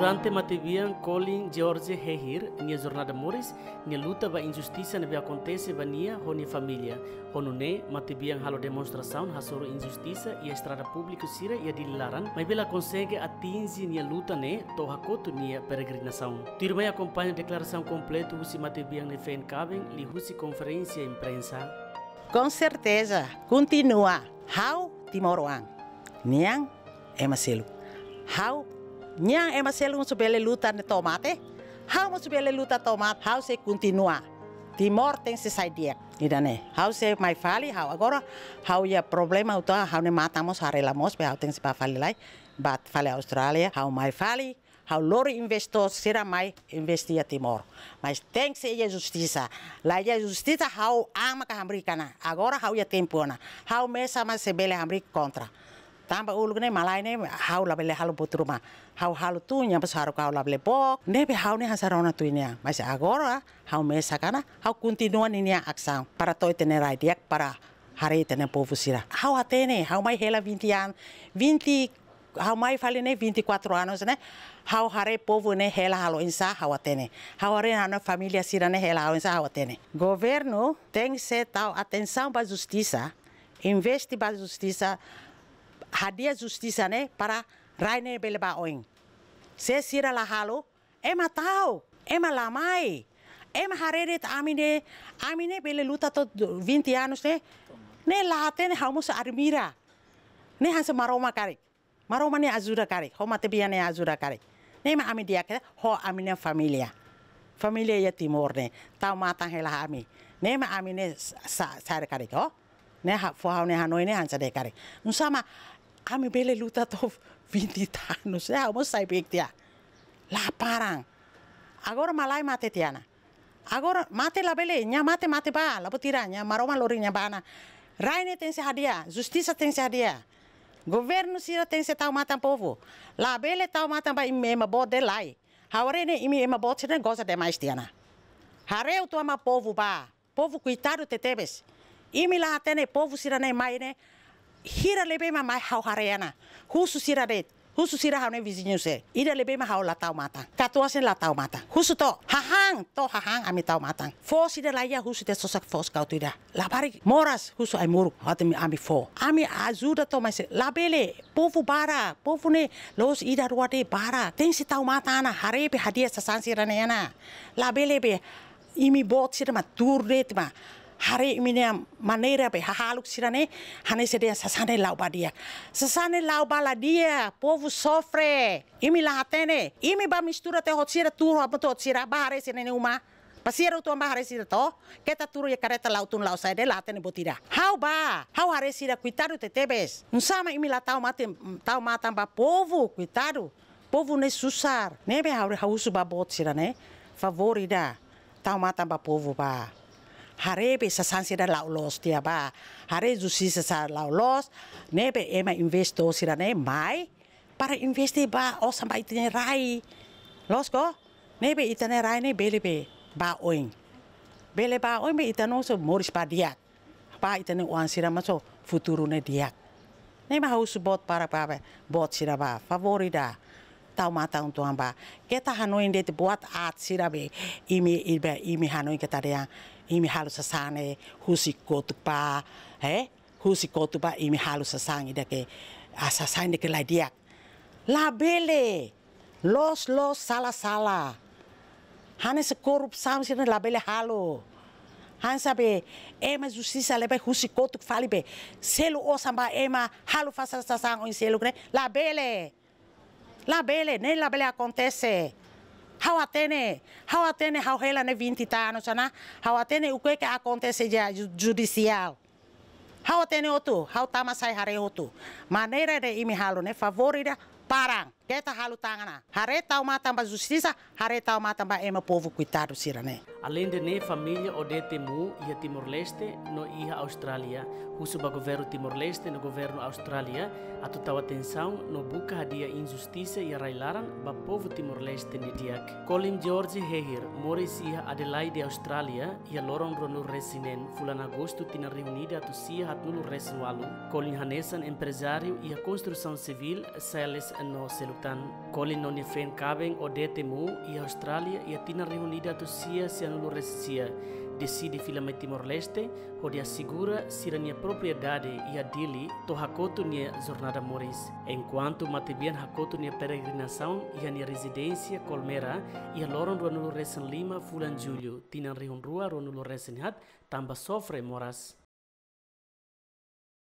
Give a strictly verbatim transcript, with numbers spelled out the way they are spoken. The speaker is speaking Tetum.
Durante matebian Colin George Hehir nia jornada moris, nia luta ba injustisa ne'ebé akontese ba nia ho nia família. Ho nune'e, matebian halo demonstrasaun hasoru injustisa iha estrada públiku sira iha Dili laran, maibé la konsege atinje nia luta ne'e to'o hakotu nia peregrinasaun. Tuirmai akompaña deklarasaun kompletu husi matebian nia feen kaben liuhusi konferénsia imprensa. Com certeza, kontinua. Ha'u timoroan. Nian ema seluk. Ha'u, nian ema seluk mós bele luta ne'e to'o mate. Ha'u mós bele luta to'o mate. Ha'u sei kontinua. Timor tenke sai di'ak. Ida-ne'e. Ha'u sei mai fali, ha'u agora, ha'u iha problema uitoan, ha'u-nia matan mós haree la moos, be ha'u tenke bá fali lai, bá fali Austrália, ha'u mai fali, ha'u lori investór sira mai investe iha Timor. Mas tenke iha justisa. La iha justisa ha'u an maka hamriik ona. Agora ha'u iha tempu ona. Ha'u mesak mak sei bele hamriik kontra. Tanba uluk ne'e malae ne'e ha'u labele halo buat ruma. Ha'u halo tun, nia mós haruka ha'u labele book. Ne'ebé ha'u ne'e hanesan rona tuir nia. Mas agora ha'u mesak ona, ha'u kontinua ninia asaun. Para to'o ita-nia rai di'ak, para haree ita-nia povu sira. Ha'u hatene, ha'u mai hela vinte an, vinte, ha'u mai fali ne'e vinte e quatro anos ne'e. Ha'u haree povu ne'e hela halo oinsá ha'u hatene. Ha'u haree ha'u-nia família sira ne'e hela halo oinsá ha'u hatene. Governu tenke tau atensaun ba justisa, investe ba justisa, hadi'a justisa ne'e para rai ne'e bele bá oin. Se sira la halo, ema ta'uk, ema la mai, ema haree de'it ami ne'e, ami ne'e bele luta to'o vinte anos ne'e, ne'e la hatene ha'u mós admira. Ne'e hanesan Maromak karik. Maromak nia ajuda karik, ho matebian nia ajuda karik. Ne'e mak ami di'ak ho ami-nia família. Família iha Timor ne'e, tau matan hela ami. Ne'e mak ami ne'e sa-, sa-, sa'e karik ho. Ne'e ha-, fó ha'u-nia hanoin ne'e hanesan de'it karik. Nusá mak ami bele luta to'o vinte anos. Ne'e ha'u mós sai beik tiha. La paran. Agora malae mate tiha ona. Agora mate labele, nia mate mate bá, la buat ida, nia Maromak lori nia bá ona. Rai ne'e tenke hadi'a, justisa tenke hadi'a. Governu sira tenke tau matan povu. Labele tau matan ba imi ema boot de'it lae. Ha'u haree ne'e imi ema boot sira ne'e goza demais tiha ona. Haree uitoan ba povu bá. Povu koitadu tebetebes. Imi la hatene povu sira ne'e mai ne'e. Hira ne'ebé mak mai ha'u haree ona. Husu sira de'it. Husu sira ha'u-nia viziñu sira. Ida ne'ebé mak ha'u la tau matan. Katuas sira la tau matan. Husu to'o. Hahán, to'o hahán ami tau matan. Foos ida la iha husu tiha sosa foos katuas ida. Labarik moras husu ai-moruk. Hatene ami fó. Ami ajuda to'o mas labele. Povu barak. Povu ne'e la'ós ida rua de'it barak. Tenke tau matan ona. Haree be hadi'a sasán sira ne'e ona. Labele be imi boot sira mak tuur de'it mak. Haree imi-nia maneira be hahalok sira ne'e, hanesan dehan sasán ne'e la'o ba di'ak. Sasán ne'e la'o ba la di'ak, povu sofre. Imi la hatene, imi bá mistura tiha ho sira, tuur hamutuk ho sira, bá haree sira-nia uma. Pasiar uitoan bá haree sira to'o, keta tuur iha karreta la'o tun la'o sa'e de'it la hatene buat ida. Ha'u bá, ha'u haree sira koitadu tebetebes. Nusá mak imi la tau matan, tau matan ba povu, koitadu. Povu ne'e susar. Ne'ebé ha'u, ha'u husu ba boot sira ne'e. Favór ida. Tau matan ba povu bá. Haree be sasán sira la'o loos tiha bá. Haree justisa sira la'o loos. Ne'ebé ema investór sira ne'e mai. Para investe bá osan ba ita-nia rai. Loos ka? Ne'ebé ita-nia rai ne'e bele be bá oin. Bele bá oin be ita-nia oan sira moris ba di'ak. Ba ita-nia oan sira mós futuru ne'e di'ak. Ne'e mak ha'u husu boot para ba be, boot sira bá, favór ida. Tau matan uitoan bá. Keta hanoin de'it buat aat sira be. Imi, imi, imi hanoin keta dehan. Imi halo sasán ne'e, husi kotuk bá. He? Husi kotuk bá, imi halo sasán ida ke. Ah, sasán ida ke la di'ak. Labele. Loos, loos, sala, sala. Hanesan korrupsaun sira labele halo. Hanesan be ema justisa lebe husi kotuk fali be. Selu osan ba ema halo fasa sasán oin seluk ne'e. Labele. Labele, ne'e labele akontese. Ha'u hatene, ha'u hatene ha'u hela ne'e vinte anos ona. Ha'u hatene o que que akontese iha ju-, judisiál. Ha'u hatene hotu, ha'u tama sai haree hotu. Maneira ida imi halo ne'e favór ida, paran. Keta halo tan ona. Haree tau matan ba justisa, haree tau matan ba ema povu koitadu sira ne'e. Aleinde ne'e família Odete Mu iha Timor-Leste no iha Austrália husu ba governu Timor-Leste no governu Austrália atu tau atensaun no buka hadi'a injustisa iha rai-laran ba povu Timor-Leste nia di'ak. Colin George Hehir moris iha Adelaide, Austrália, iha loron ruanulu-resin-neen, fulan Agostu tinan rihun ida atus sia haatnulu-resin-ualu. Colin hanesan emprezáriu iha konstrusaun sivíl, Sales No seluk tan, Colin no nia frente kaben Odette Mu iha Austrália iha tinan rihun ida atus sia sianulu resin sia, deside fila mai Timor-Leste, hodi asegura sira-nia propriedade iha Dili, to'o hakotu nia jornada moris. Enkuantu matebian hakotu nia peregrinasaun iha nia rezidénsia Colmera, iha loron ruanulu resin lima fulan Jullu, tinan rihun rua ruanulu resin haat, tanba sofre moras.